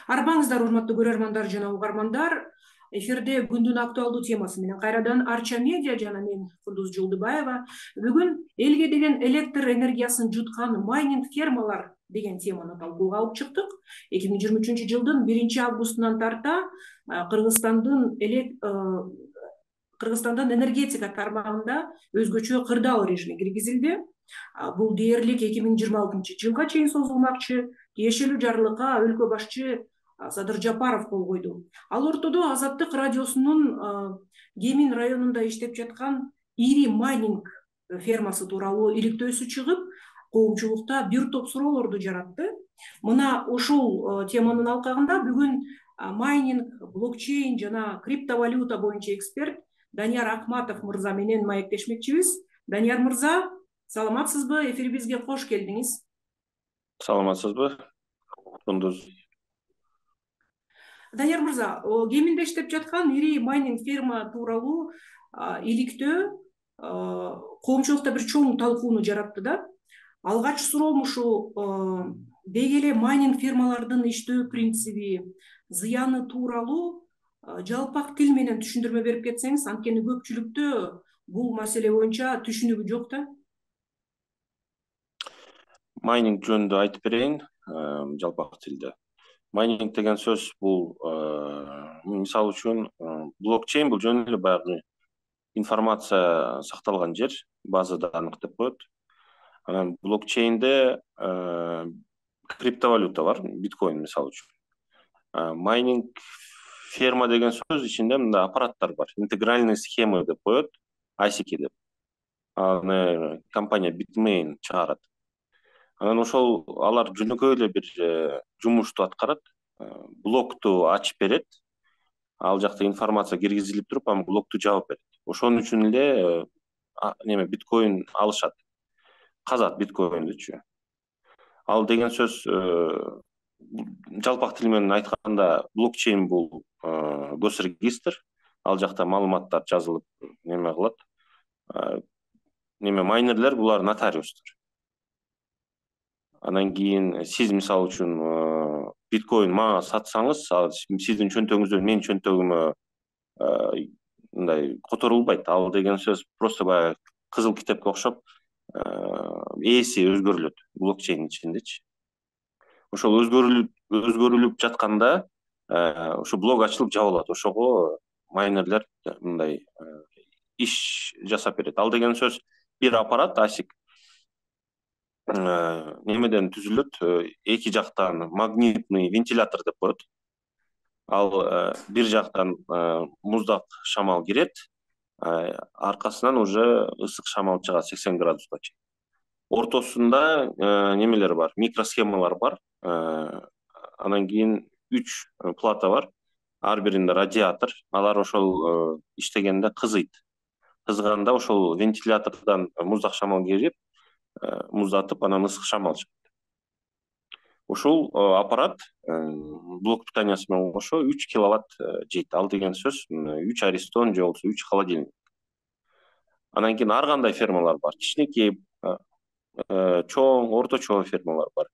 Арбаңыздар, урматтуу көрөрмандар жана угармандар. Эфирде күндүн актуалдуу темасы менен кайрадан Арча медиа жана мен Кудуз Жолдубаева. Бүгүн элге деген электр энергиясын жуткан майнинг фермалар деген теманы талкууга алып чыктык. 2023 жылдын 1-августунан тарта Кыргызстандын энергетика тармагында өзгөчө кырдаал режими киргизилди. Бул дээрлик 2026 жылга чейин созулмакчы. Тиешелүү жарлыкка өлкө башчы Садыр Жапаров кол койду. Ал ортодо Азаттык радиосунун Кемин районунда иштеп жаткан ири майнинг фермасы тууралуу иликтөөсү чыгып, коомчулукта бир топ суроолорду жаратты. Мына ошол теманын алкагында бүгүн майнинг, блокчейн жана криптовалюта боюнча эксперт Данияр Акматов мырза менен маектешмекчибиз. Данияр мырза, саламатсызбы? Эфирибизге кош келдиңиз. Саламатсызбы? Кундуз. Данияр мырза, Кеминде иштеп жаткан ири майнинг ферма тууралуу иликтөө коомчулукта бир чоң талкууну жаратты да. Алгач суроом ушул деги эле майнинг фермалардын иштөө принциби, зыяны тууралуу жалпак тил менен түшүндүрмө берип кетсеңиз, анткени көпчүлүктө бул маселе боюнча түшүнүгү жок да. Майнинг жөнүндө айтып берейин, жалпак тилде. Майнинг деген сөз бул мисалы үчүн блокчейн бул жөн эле баягы информация сакталган жер, база данных деп коет. Анан блокчейнде криптовалюта бар, биткоин мисалы үчүн. Майнинг ферма деген сөз ичинде мындай аппараттар бар, интегральный схемы деп коет, ASIC деп. Аны компания Bitmain чыгарат. Анан ошол алар жөнөкөй эле бир жумушту аткарат. Блокту ачып берет. Ал жакта информация киргизилип туруп, анан блокту жаап берет. Ошон үчүн эле биткоин алышат. Казат биткоиндүчү. Ал деген сөз жалпак тил менен айтканда блокчейн бул госрегистр. Ал жакта маалыматтар жазылып кылат. Майнерлер булар нотариустар. Анан кийин сиз мисалы үчүн биткоин мага сатсаңыз, сиздин чөнтөгүңүздөн менин чөнтөгүмө мындай которулбайт. Ал деген сөз просто баягы кызыл китепке окшоп ээси өзгөрүлөт блокчейн ичиндечи. Ошол өзгөрүлүп жатканда ошо блок ачылып жабылат. Ошого майнерлер мындай иш жасап берет. Ал деген сөз бир аппарат ASIC немеден түзүлөт, эки жактан магнитный вентилятор деп коет. Ал бир жактан муздак шамал кирет, аркасынан уже ысык шамал чыгат 80 градуска чейин. Ортосунда немелер бар, микросхемалар бар. Анан кийин 3 плата бар. Ар биринде радиатор. Алар ошол иштегенде кызыйт. Кызганда ошол вентилятордон муздак шамал кирип, муздатып, анан ысык шамал чыгат. Ошол аппарат блок питаниясы менен кошо 3 киловатт жейт. Ал деген сөз 3 аристон же болбосо 3 холодильник. Анан кийин ар кандай фермалар бар. Кичинекей, чоң, орточо фермалар бар.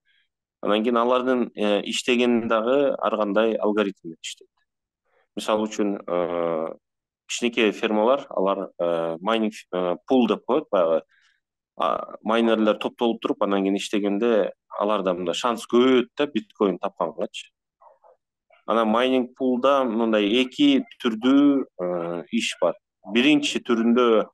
Анан кийин алардын иштегени дагы ар кандай алгоритм менен иштейт. Мисалы үчүн кичинекей фермалар, алар майнинг пул деп коет, баягы майнерлер топтолуп туруп, анан кийин иштегенде аларда мындай шанс көбөйөт да биткоин тапкангачы. Анан майнинг пулда мындай эки түрдүү иш бар. Биринчи түрүндө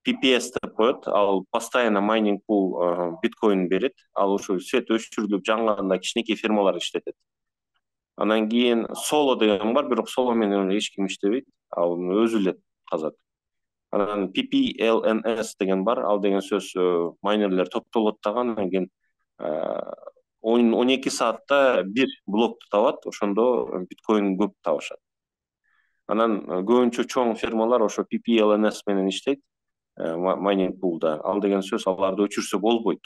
PPS деп коет. Ал постоянно майнинг пул биткоин берет. Ал ошо свет өчүрүлүп жанганда кичинекей фермалар иштетет. Анан кийин соло деген бар, бирок соло менен эч ким иштебейт. Ал өзү эле казат. Анан PPLNS деген бар. Ал деген сөз майнерлер топтолот дагы, анан кийин 12 саатта бир блокту табат, ошондо биткоин көп табышат. Анан көбүнчө чоң фермалар ошо PPLNS менен иштейт, майнинг пулда. Ал деген сөз аларды өчүрсө болбойт.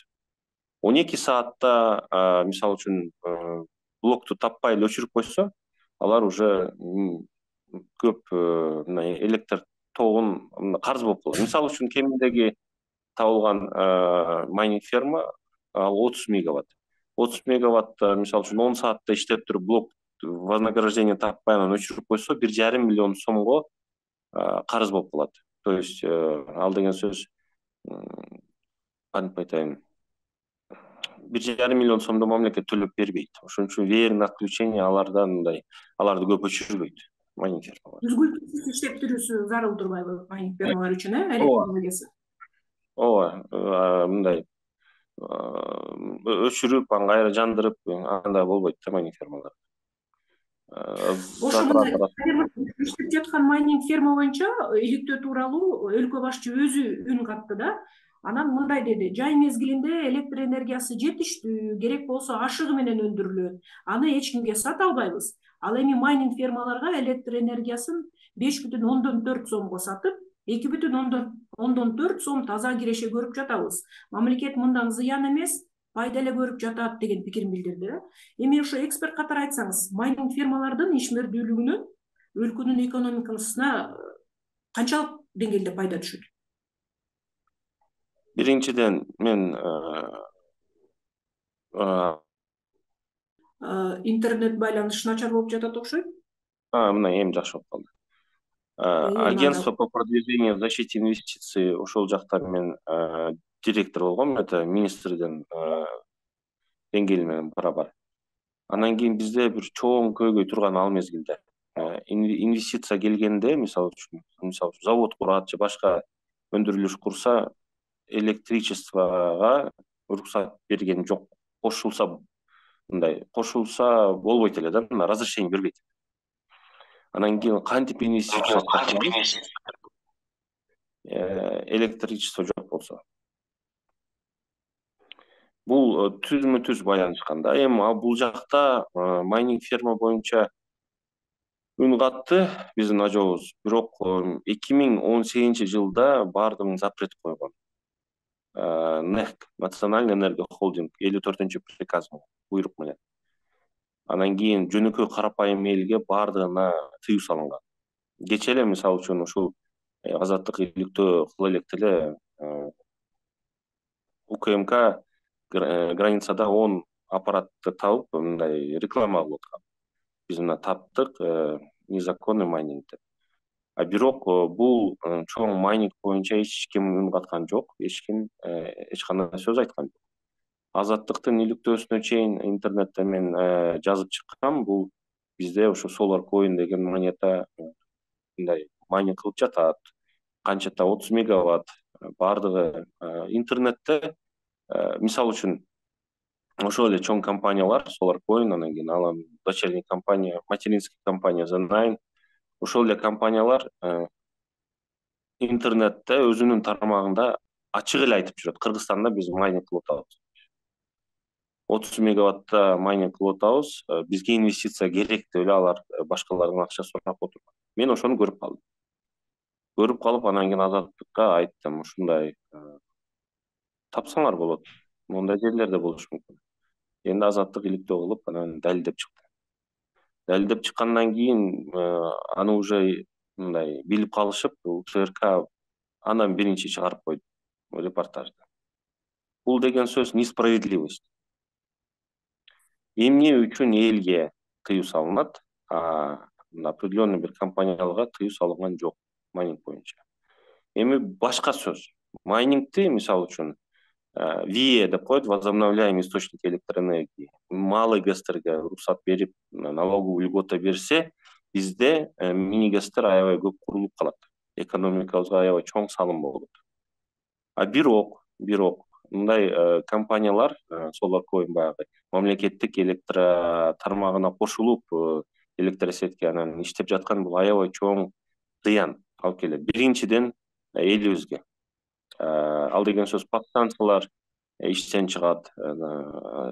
12 саатта мисалы үчүн блокту таппай эле өчүрүп койсо, алар уже көп электр тогун карыз болуп калат. Мисалы үчүн Кеминдеги табылган майнинг ферма ал 30 мегаватт. 30 мегаватт мисалы үчүн 10 саатта иштеп туруп блок вознаграждение таппай анан өчүрүп койсо 1,5 миллион сомго карыз болуп калат. То есть ал деген сөз кантип айтайын, 1,5 миллион сомду мамлекет төлөп бербейт. Ошон үчүн веерное отключение аларды көп өчүрбөйт майнинг фермалар. Үзгүлтүксүз иштептирүүсү зарыл турбайбы майнинг фермалар үчүн, Ооба, электроэнергиясы? ооба, мындай өчүрүп анан кайра жандырып андай болбойт да майнинг фермалар. Ошо мындай иштеп жаткан майнинг ферма боюнча иликтөө тууралуу өлкө башчы өзү үн катты да. Анан мындай деди: жай мезгилинде электр энергиясы жетиштүү, керек болсо ашыгы менен өндүрүлөт. Аны эч кимге сата албайбыз. Ал эми майнинг фермаларга электр энергиясын 5,4 сомго сатып, 2,4 сом таза киреше көрүп жатабыз. Мамлекет мындан зыян эмес, пайда эле көрүп жатат деген пикирин билдирди. Эми ошо эксперт катары айтсаңыз, майнинг фермалардын ишмердүүлүгүнөн өлкөнүн экономикасына канчалык деңгээлде пайда түшөт? Биринчиден мен интернет байланыш начар болуп жатат окшойт. мына эми жакшы болуп калды. Агентство по продвижению защиты инвестиций ошол жакта мен директор болгом, это министрдин деңгээли менен барабар. Анан кийин бизде бир чоң көйгөй турган ал мезгилде инвестиция келгенде, мисалы үчүн завод курат же башка өндүрүлүш курса, электричествого уруксат берген жок. Кошулса болбойт эле да, разрешение бербейт. Анан кийин кантип инвестиция электричество жок болсо. Бул түзмө-түз байланышкан да. Эми бул жакта майнинг ферма боюнча үн катты биздин ажообуз. Бирок 2018-жылда баардыгын запрет койгон. НЭХ, Национальный энергохолдинг 54-приказ буйрук менен. Анан кийин жөнөкөй карапайым элге баардыгына тыюу салынган. Кечээ эле мисалы үчүн ушул азаттык иликтөө кыла электе эле УКМК границада 10 аппаратты табып мындай реклама кылып аткан. Биз мына таптык незаконный майнинг деп. Бирок бул чоң майнинг боюнча эч ким үн каткан жок, эч ким эч кандай сөз айткан жок. Азаттыктын иликтөөсүнө чейин интернетте мен жазып чыккам. Бул бизде ошо SolarCoin деген монета мындай майнинг кылып жатат. Канчата 30 мегаватт баардыгы интернетте. Мисалы үчүн ошол эле чоң компаниялар SolarCoin, анан кийин алам дочерний компания, материнский компания The9, ошол эле компаниялар интернетте өзүнүн тармагында ачык эле айтып жүрөт: Кыргызстанда биз майнинг кылып атабыз. 30 мегаватта майнинг кылып атабыз, бизге инвестиция керек деп эле алар башкалардан акча сурап отурган. Мен ошону көрүп калдым. Көрүп калып, анан кийин Азаттыкка айттым: ушундай тапсаңар болот. Мондай жерлерде болушу мүмкүн. Эndi Азаттык иликтөө кылып, анан далилдеп чыкты. Далилдеп чыккандан кийин аны уже мындай билип калышып, УКРК андан биринчи чыгарып койду репортажды. Бул деген сөз несправедливость. Эмне үчүн элге тыюу салынат, определенный бир компанияларга тыюу салынган жок майнинг боюнча. Эми башка сөз. Майнингти мисалы үчүн ВИЭ деп коет, возобновляемый источник электроэнергии. Малый ГЭСтерге уруксат берип, налоговый льгота берсе, бизде мини ГЭСтер аябай көп курулуп калат. Экономикабызга аябай чоң салым болот. Бирок мындай компаниялар, SolarCoin баягы мамлекеттик электр тармагына кошулуп, электросетке анан иштеп жаткан, бул аябай чоң зыян алып келет. Биринчиден элибизге. Ал деген сөз подстанциялар иштен чыгат,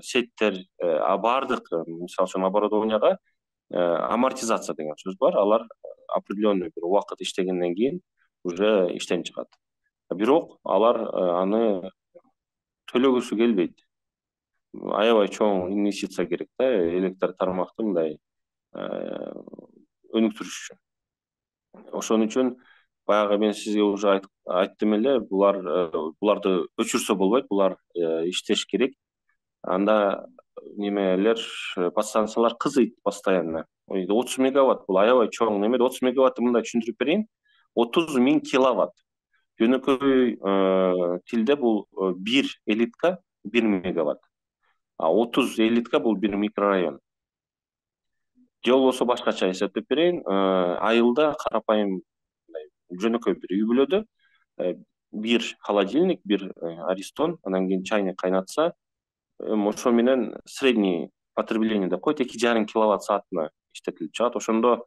сеттер, баардык мисалы үчүн оборудованияга амортизация деген сөз бар. Алар определенный бир убакыт иштегенден кийин уже иштен чыгат. Бирок алар аны төлөгүсү келбейт. Аябай чоң инвестиция керек да, электр тармакты мындай өнүктүрүш үчүн. Ошон үчүн баягы мен сизге уже айттым эле, буларды өчүрсө болбойт, булар иштеш керек. Анда немелер подстанциялар кызыйт постоянно. 30 мегаватт бул аябай чоң неме. 30 мегаватты мындай түшүндүрүп берейин. 30.000 киловатт. Жөнөкөй тилде бул 1 элитка 1 мегаватт. А 30 элитка бул 1 микрорайон. Же болбосо башкача эсептеп берейин. Айылда карапайым жөнөкөй бир үй бүлөдө бир холодильник, бир аристон, анан кийин чайник кайнатса, ошо менен средний потребление деп коет 2,5 киловатт саатына иштетилип чыгат. Ошондо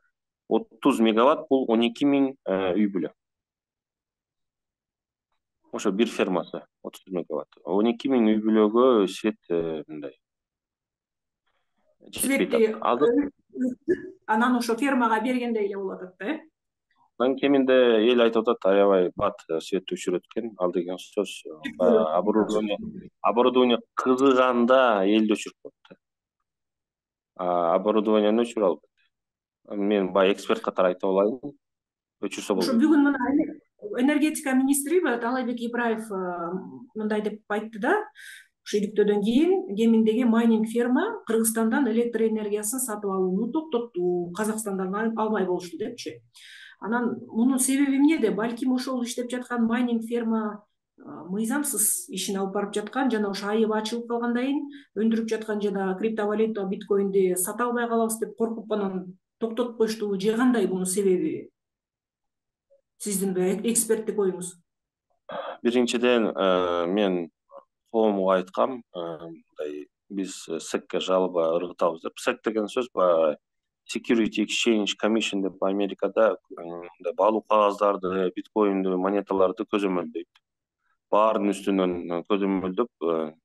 30 мегаватт бул 12.000 үй бүлө. Ошо бир фермасы 30 мегаватт. 12.000 үй бүлөгө свет мындай жетпей атат. Анан ошо фермага бергендей эле болуп атат да, э? Анан кеминде эл айтып атат, аябай бат светти өчүрөт экен. Ал деген сөз оборудование кызыганда элди өчүрүп коет да. Оборудованияны өчүрө албайт. Мен баягы эксперт катары айта алайын. Өчүрсө болот. Ошо бүгүн мына энергетика министри Таалайбек Ибраев мындай деп айтты да, ошо иликтөөдөн кийин Кеминдеги майнинг ферма Кыргызстандан электр энергиясын сатып алууну токтотту, Казакстандан алмай болушту депчи. Анан мунун себеби эмнеде? Балким ошол иштеп жаткан майнинг ферма мыйзамсыз ишин алып барып жаткан, жана ошо айыбы ачылып калгандан кийин өндүрүп жаткан жана криптовалюта, биткоинди сата албай калабыз деп коркуп анан токтотуп коюштубу же кандай бунун себеби? Сиздин эксперттик оюңуз? Биринчиден, мен коомго айткам, мындай биз СЭКке жалоба ыргытабыз деп. СЭК деген сөз баягы Security Exchange Commission деп Америкада мындай баалуу кагаздарды, биткоинди, монеталарды көзөмөлдөйт. Баарынын үстүнөн көзөмөлдөп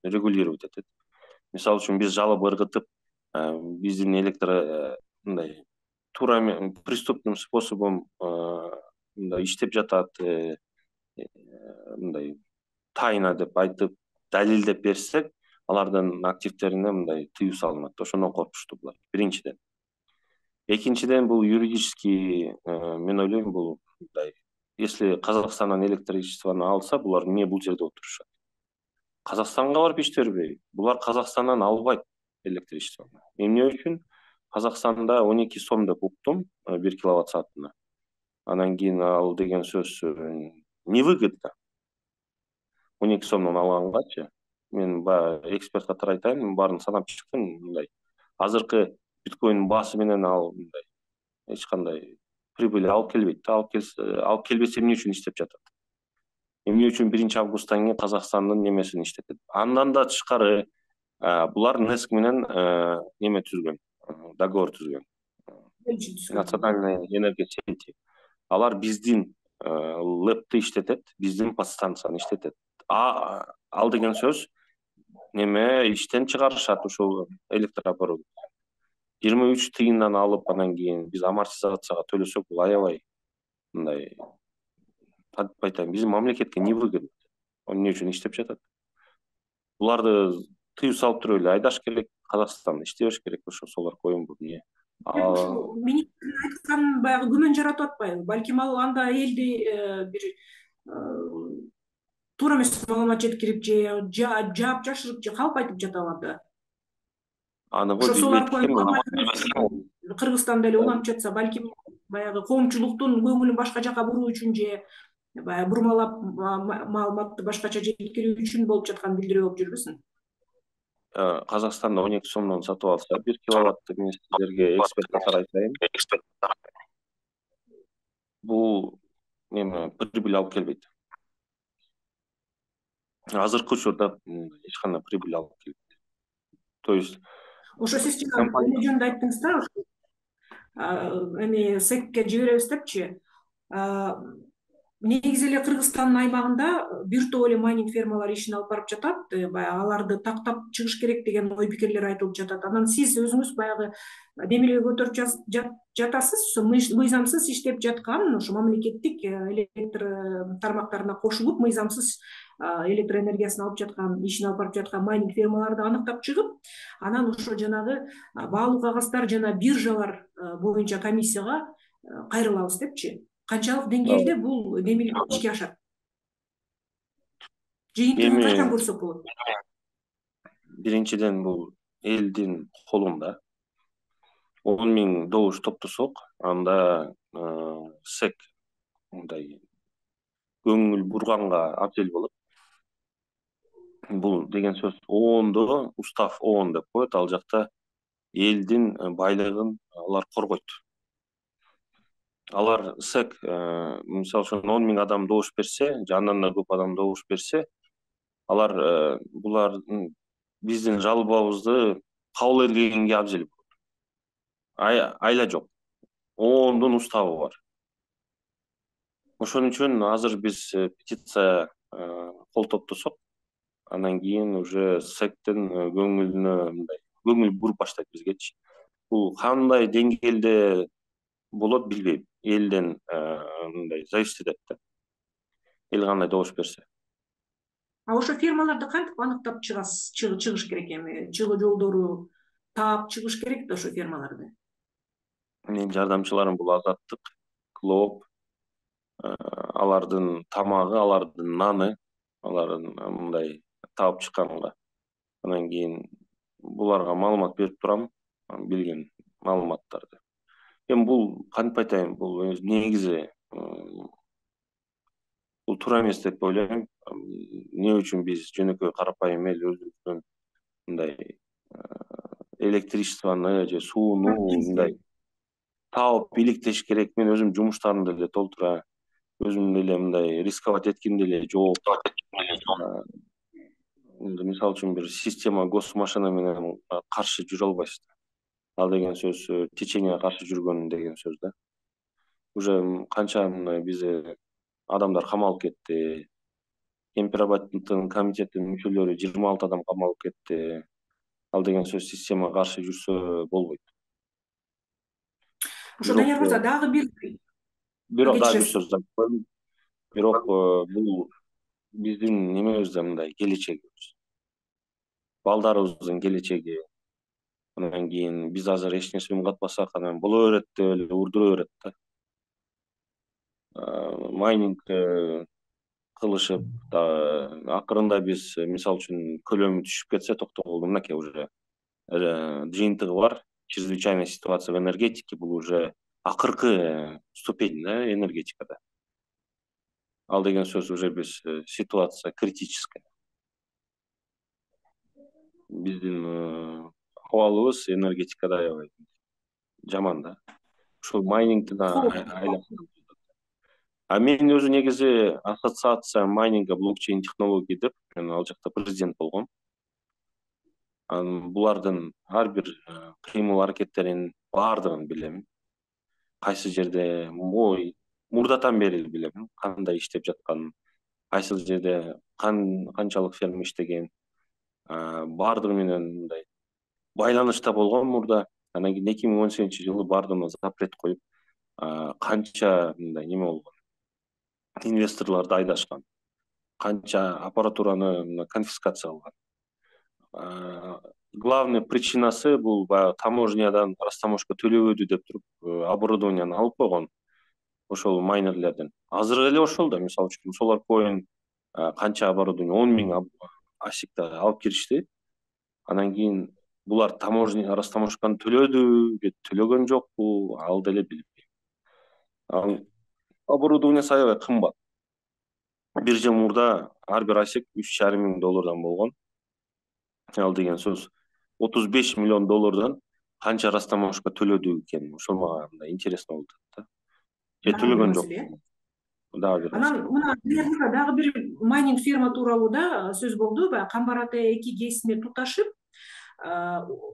регулировать этет. Мисалы үчүн биз жалоба ыргытып, биздин электр мындай туура преступным способом мындай иштеп жатат, мындай тайна деп айтып, далилдеп берсек, алардын активтерине мындай тыюу салынат. Ошондон коркушту булар. Биринчиден. Экинчиден, бул юридически, мен ойлойм, бул мындай, если Казакстандан электричествону алса, булар эмне бул жерде отурушат? Казакстанга барып иштебей, булар Казакстандан албайт электричествону. Эмне үчүн? Казакстанда 12 сом деп уктум 1 киловатт саатына. Анан кийин ал деген сөз невыгодно. 12 сомдон алгангачы. Мен баягы эксперт катары айтайын, мен баарын санап чыктым, мындай. Азыркы биткоин баасы менен ал мындай эч кандай прибыль алып келбейт. Алып келбесе эмне үчүн иштеп жатат? Эмне үчүн 1 августтан кийин Казакстандын немесин иштетет? Андан да тышкары булар НЭСК менен неме түзгөн, договор түзгөн. Национальная энергия сети. Алар биздин лэпти иштетет, биздин подстанцияны иштетет. Ал деген сөз неме иштен чыгарышат ушул электрооборудование. 23 тыйындан алып, анан кийин биз амортизацияга төлөсөк, бул аябай мындай айтайын, биздин мамлекетке невыгодно. Эмне үчүн иштеп жатат? Буларды тыюу салып туруп эле айдаш керек, Казакстанда иштебеш керек. Ошо солорго оюм бул эмне. Министрдин айткан баягы күмөн жаратып атпайбы? Балким ал анда элди бир туура эмес маалымат жеткирип же жаап жашырып же калп айтып жатабы анда? Аны ошо сол аркылуу Кыргызстанда эле уланып жатса, балким баягы коомчулуктун көңүлүн башка жака буруу үчүн же баягы бурмалап маалыматты башкача жеткирүү үчүн болуп жатканын билдирүү болуп жүрбөсүн? Казакстанда 12 сомдон сатып алса, 1 киловатты мен сиздерге эксперт катары айтайын. Бул неме прибыль алып келбейт. Азыркы учурда эч кандай прибыль алып келбейт. То есть ошо сиз эмне жөнүндө айттыңыз да, эми СЭКке жиберебиз депчи. Негизи эле Кыргызстандын аймагында бир топ эле майнинг фермалар ишин алып барып жатат. Баягы аларды тактап чыгыш керек деген ой пикирлер айтылып жатат. Анан сиз өзүңүз баягы демилге көтөрүп жатасыз, мыйзамсыз иштеп жаткан ошо мамлекеттик электр тармактарына кошулуп, мыйзамсыз электр энергиясын алып жаткан, ишин алып барып жаткан майнинг фермаларды аныктап чыгып, анан ошо жанагы баалуу кагаздар жана биржалар боюнча комиссияга кайрылабыз депчи. Канчалык деңгээлде бул демилге ишке ашат? Жыйынтыгын качан көрсөк болот? биринчиден бул элдин колунда. 10 миң добуш топтосок, анда СЭК мындай көңүл бурганга абзел болот. Бул деген сөз ООНдо устав ООН деп коет, ал жакта элдин байлыгын алар коргойт. Алар СЭК мисалы үчүн 10 миң адам добуш берсе, же андан да көп адам добуш берсе, алар булардын биздин жалобубузду кабыл эргенге абзел болот. Айла жок. ООНдун уставы бар. Ошон үчүн азыр биз петиция кол топтосок, анан кийин уже СЭКтин көңүлүнө мындай көңүл буруп баштайт бизгечи. Бул кандай деңгээлде болот билбейм. Элден мындай зависит этет да. Эл кандай добуш берсе. Ошо фирмаларды кантип аныктап чыгыш керек эми? Чыгуу жолдору таап чыгыш керек да ошо фирмаларды. Менин жардамчыларым бул Азаттык, Клоп, алардын тамагы, алардын наны, алардын мындай таап чыкканга. Анан кийин буларга маалымат берип турам, билген маалыматтарды. Эми бул кантип айтайын, бул негизи бул туура эмес деп ойлойм. Эмне үчүн биз жөнөкөй карапайым эл өзүбүздүн мындай электричествону же сууну мындай таап иликтеш керек. Мен өзүм жумуштарымды деле толтура, өзүм деле мындай рисковать этким деле жок. Мисалы үчүн бир система госмашина менен каршы жүрө албайсыз. Ал деген сөз теченияга каршы жүргөн деген сөз да. Уже канча бизде адамдар камалып кетти. Темперабаттын комитеттин мүчөлөрү 26 адам камалып кетти. Ал деген сөз системага каршы жүрсө болбойт. Ошо Данияр мырза дагы бирок дагы бир сөз айтып коеюн. Бирок бул биздин немебизде мындай келечегибиз. Балдарыбыздын келечеги. Анан кийин биз азыр эч нерсе үн катпасак, анан боло берет деп эле урдура берет да. Майнинг кылышып, акырында биз мисалы үчүн көлөмү түшүп кетсе, токтогулдун мынакей уже жыйынтыгы бар. Чрезвычайная ситуация в энергетике, бул уже акыркы ступень да энергетикада. Ал деген сөз уже биз ситуация критическая. Биздин абалыбыз энергетикада аябай жаман да. Ушул майнингди айлап. Мен өзү негизи ассоциация майнинга блокчейн технологии деп, мен ал жакта президент болгом. Булардын ар бир кыймыл аракеттерин баардыгын билем. Кайсы жерде мурдатан бери билем, кандай иштеп жатканын, кайсы жерде канчалык ферма иштеген, баардыгы менен мындай байланышта болгон мурда. Анан кийин 2018-жылы баардыгына запрет коюп, канча мындай неме болгон, инвесторлорду айдашкан, канча аппаратураны конфискация кылган. Главный причинасы бул баягы таможнядан растаможка төлөбөдү деп туруп оборудованияны алып койгон ошол майнерлерден. Азыр эле ошол да, мисалы үчүн SolarCoin канча оборудование 10 миң асикта алып киришти. Анан кийин булар таможня растаможканы төлөдү же төлөгөн жокпу, ал деле билбейм. Оборудование аябай кымбат. Бир жыл мурда ар бир асик $3,5 миң болгон. Ал деген сөз $35 миллион канча растаможка төлөдү экен. Ошол мага мындай интересно болуп атат да. Же төлөгөн жок. Дагы бир. Анан мына дагы бир майнинг фирма тууралуу да сөз болду. Баягы Камбар ата 2 ГЭСине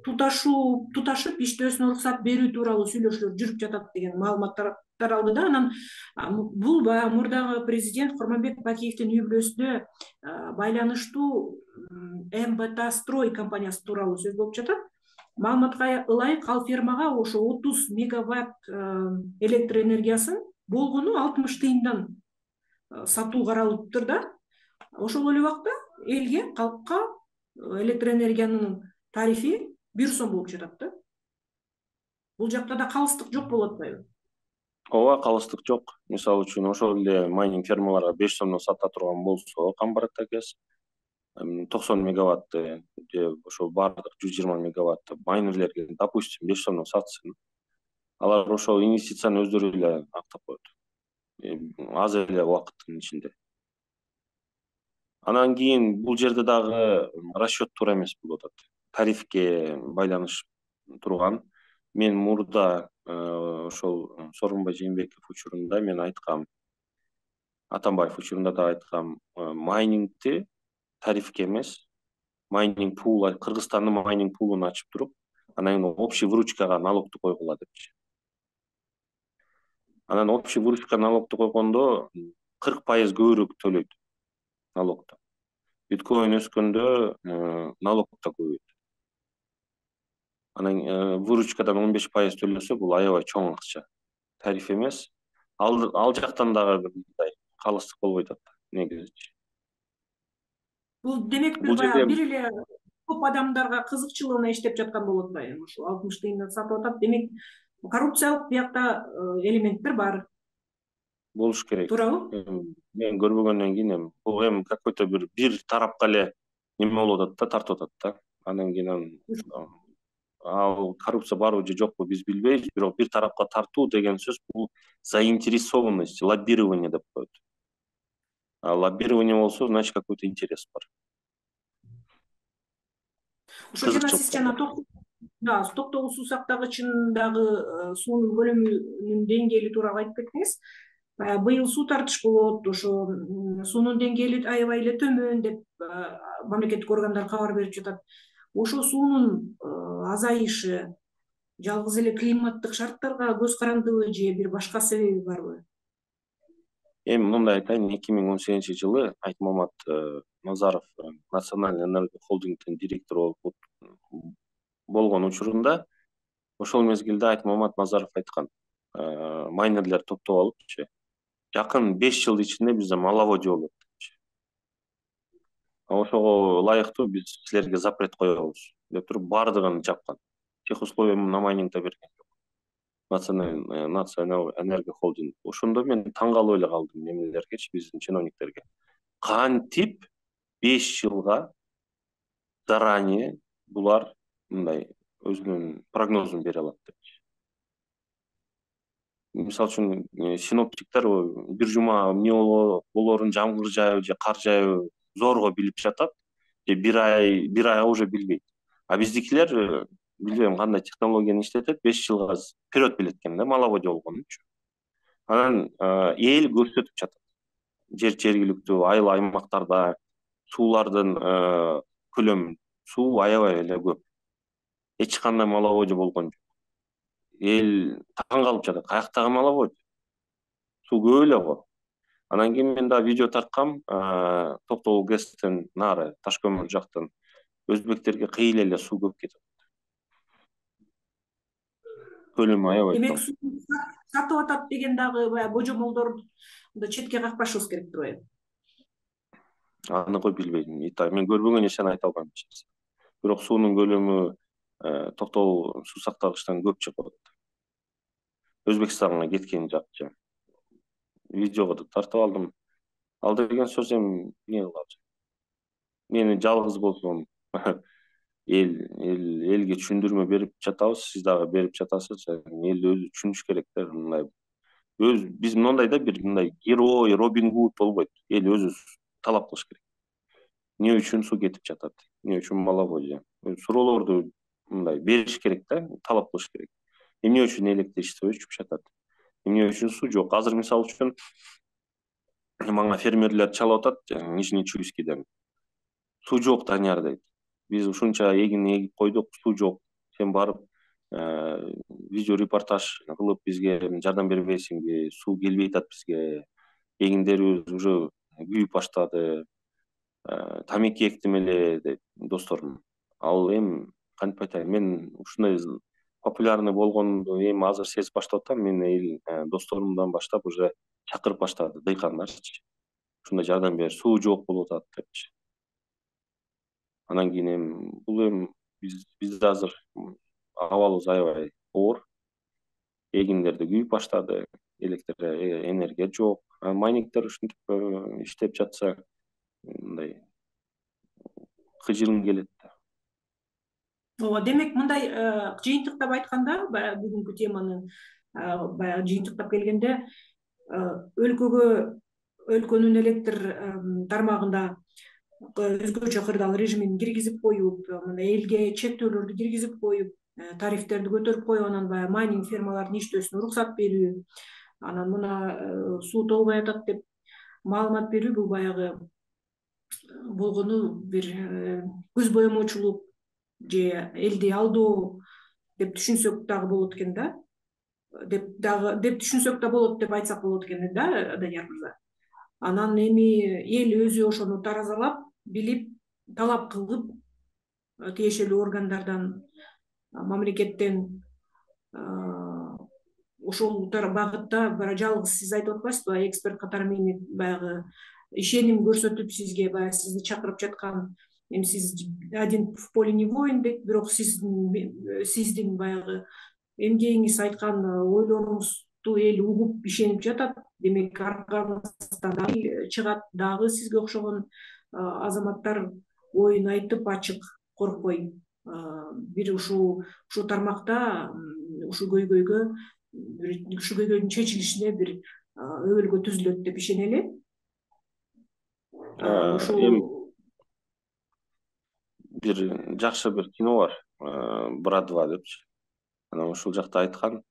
туташып иштөөсүнө уруксат берүү тууралуу сүйлөшүүлөр жүрүп жатат деген маалыматтар таралды да. Анан бул баягы мурдагы президент Курманбек Бакиевдин үй бүлөсүнө байланыштуу МБТ Строй компаниясы тууралуу сөз болуп жатат. Маалыматка ылайык, ал фирмага ошо 30 мегаватт электр энергиясын болгону 60 тыйындан сатуу каралыптыр да. Ошол эле убакта элге, калкка электр энергиянын тарифи 1 сом болуп жатат да. Бул жакта да калыстык жок болуп атпайбы? Ооба, калыстык жок. Мисалы үчүн ошол эле майнинг фермаларга 5 сомдон сата турган болсо, Камбар ата ГЭС 90 мегаватты же ошо баардык 120 мегаватты майнерлерге, допустим, 5 сомдон сатсын, алар ошол инвестицияны өздөрү эле актап коет, аз эле убакыттын ичинде. Анан кийин бул жерде дагы расчет туура эмес болуп атат. Тарифке байланыш турган. Мен мурда ошол Сооронбай Жээнбеков учурунда мен айткам, Атамбаев учурунда да айткам, майнингти тарифке эмес, майнинг пул, Кыргызстандын майнинг пулун ачып туруп, анан общий выручкага налогду койгула депчи. Анан общий выручка налогду койгондо 40% көбүрөөк төлөйт налогду. Биткоин өскөндө налог да көбөйөт. Анан выручкадан 15% төлөсө бул аябай чоң акча. Тариф эмес. Ал жактан дагы мындай калыстык болбой атат негизи. Бул демек Бул жерде бир эле көп адамдарга кызыкчылыгына иштеп жаткан болот атпайбы? Ушул 60 тыйындан сатып атат. Демек коррупциялык биякта элементтер бар. Болуш керек. Туурабы? Мен көрбөгөндөн кийин бул какой-то бир тарапка эле неме болуп атат да, тартып атат да. Андан кийин ал коррупция барбы же жокпу биз билбейбиз, бирок бир тарапка тартуу деген сөз бул заинтересованность, лоббирование деп коет. А лоббирование болсо, значит, какой-то интерес бар. Ошо жана сиз жана токтогул суу сактагычындагы суунун көлөмүнүн деңгээли тууралуу айтып кеттиңиз. Быйыл суу тартыш болот, ошо суунун деңгээли аябай эле төмөн деп мамлекеттик органдар кабар берип жатат. Ошо суунун азайышы жалгыз эле климаттык шарттарга көз карандыбы же бир башка себеби барбы? Эми мындай айтайын, 2018-жылы Айтмамат Назаров Национальный энерго холдингдин директору болгон учурунда ошол мезгилде Айтмамат Назаров айткан, майнерлер топтоп алыпчы, жакын 5 жыл ичинде бизде маловодье болот депчи. Ошого ылайыктуу биз силерге запрет коебуз деп туруп баардыгын жапкан. Тех условия на майнингде берген жок. Национальный энерго холдинг. Ошондо мен таң калып эле калдым немелергечи, биздин чиновниктерге. Кантип 5 жылга заранее булар мындай өзүнүн прогнозун бере алат депчи. Мисалы үчүн синоптиктер бир жума эмне болорун, жамгыр жаабы же кар жаабы зорго билип жатат, же бир айга уже билбейт. А биздикилер билбейм кандай технологияны иштетет, 5 жылга вперед билет экен да, маловодье болгон үчүн. Анан эл көрсөтүп жатат. Жергиликтүү айыл аймактарда суулардын көлөмүн, суу аябай эле көп. Эч кандай маловодье болгон жок. Эл таң калып жатат, каяктагы маловодье? Суу көп эле го. Анан кийин мен да видео тарткам, Токтогул ГЭСтен нары Ташкөмүр жактан өзбектерге кыйла эле суу көп кетет. Көлөмү аябай Демек чоң. суу сатып атат деген дагы баягы божомолдорду четке какпашыбыз керек турбайбы? Аныгы билбейм. Мен көрбөгөн нерсени айта албайм. Бирок суунун көлөмү Токтогул суу сактагычтан көп чыгып атат. Өзбекстанга кеткен жакчы. Видеого да тартып алдым. Ал деген сөз эми эмне кылабыз? Мени жалгыз болсом элге түшүндүрмө берип жатабыз, сиз дагы берип жатасыз. Эл өзү түшүнүш керек да, мындай биз мындай да бир мындай герой, Робин Гуд болбойт. Эл өзү талап кылыш керек. Эмне үчүн суу кетип жатат? Эмне үчүн маловодье? Суроолорду мындай бериш керек да, талап кылыш керек. Эмне үчүн электр иштебей жатат? Эмне үчүн суу жок? Азыр мисалы үчүн мага фермерлер чалып атат, Нижний Чуйскийден. Суу жок, Данияр дейт. Биз ушунча эгин эгип койдук, суу жок. Сен барып видео репортаж кылып бизге жардам бербейсиңби? Суу келбей атат бизге. Эгиндерибиз уже күйүп баштады. Тамеки эктим эле дейт досторум. Ал эми кантип айтайын, мен ушундай популярный болгонду эми азыр сезип баштап атам. Мен досторумдан баштап уже чакырып баштады, дыйкандарчы. Ушундай жардам бер, суу жок болуп атат депчи. Анан кийин эми бул бизде азыр абалыбыз аябай оор. Эгиндерде күйүп баштады, электр энергия жок. Майнингдер ушинтип иштеп жатса, мындай кыжырың келет да. ооба, демек мындай жыйынтыктап айтканда, баягы бүгүнкү теманы баягы жыйынтыктап келгенде, өлкөнүн электр тармагында өзгөчө кырдаал режимин киргизип коюп, мына элге чектөөлөрдү киргизип коюп, тарифтерди көтөрүп коюп, анан баягы майнинг фермалардын иштөөсүнө уруксат берүү, анан мына суу толбой атат деп маалымат берүү, бул баягы болгону бир көз боемочулук же элди алдоо деп түшүнсөк дагы болот экен да, деп түшүнсөк да болот деп айтсак болот экен да, Данияр мырза. Анан эми эл өзү ошону таразалап, билип, талап кылып, тиешелүү органдардан, мамлекеттен ошол багытта жалгыз сиз айтып атпайсызбы, эксперт катары мени баягы ишеним көрсөтүп сизге, баягы сизди чакырып жаткан, эми сиз один в поле не воин дейт, бирок сиздин баягы эмгегиңиз, айткан ойлоруңузду эл угуп, ишенип жатат. Демек, аркаңыздан дагы чыгат, дагы сизге окшогон азаматтар оюн айтып, ачык, коркпой бир ушул тармакта ушул көйгөйдүн чечилишине бир өбөлгө түзүлөт деп ишенели. Ушул бир жакшы бир кино бар, брат 2 депчи. Анан ушул жакта айткан,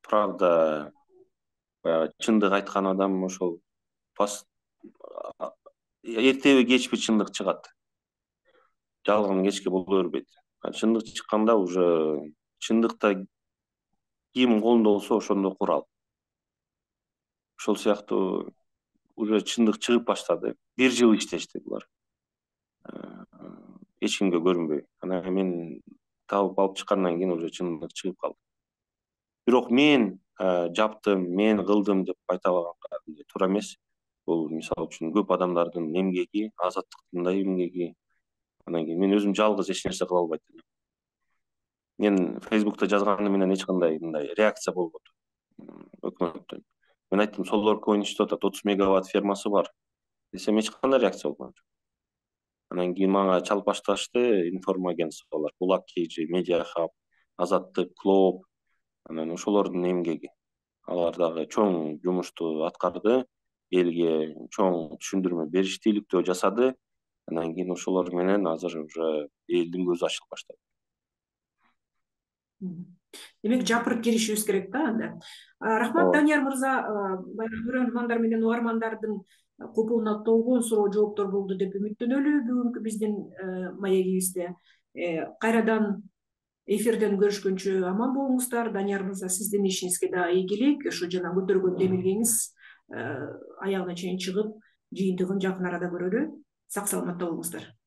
правда, баягы чындык айткан адам ошол эртеби кечпи чындык чыгат. Жалган кечке боло бербейт. Чындык чыкканда уже чындыкта ким колунда болсо ошондо курал. Ошол сыяктуу уже чындык чыгып баштады. 1 жыл иштешти булар. Эч кимге көрүнбөй. Анан мен табып алып чыккандан кийин уже чындык чыгып калды. Бирок мен жаптым, мен кылдым деп айта алганга туура эмес. Бул мисалы үчүн көп адамдардын эмгеги, азаттыктын да эмгеги. Анан кийин мен өзүм жалгыз эч нерсе кыла албайт элем. Мен Facebook'та жазганы менен эч кандай мындай реакция болбоду өкмөттөн. Мен айттым, Солорко иштеп атат, 30 мегаватт фермасы бар десем, эч кандай реакция болгон жок. Анан кийин мага чалып башташты информагентстволор, Булак KG, Media Hub, Азаттык, Клоп, анан ошолордун эмгеги. Алар дагы чоң жумушту аткарды, элге чоң түшүндүрмө бериштүүлүктүү жасады. Анан кийин ошолор менен азыр уже элдин көзү ачылып баштады. Демек, жапырып киришибиз керек да анда. Рахмат, Данияр мырза, көрөрмандар менен угармандардын купуна толгон суроо жооптор болду деп үмүттөнөлү бүгүнкү биздин маегибизде. Кайрадан эфирден көрүшкөнчө аман болуңуздар. Данияр мырза, сиздин ишиңизге да ийгилик. Ошо жана көтөргөн демилгеңиз аягына чейин чыгып, жыйынтыгын жакын арада көрөлү. Сак саламатта болуңуздар.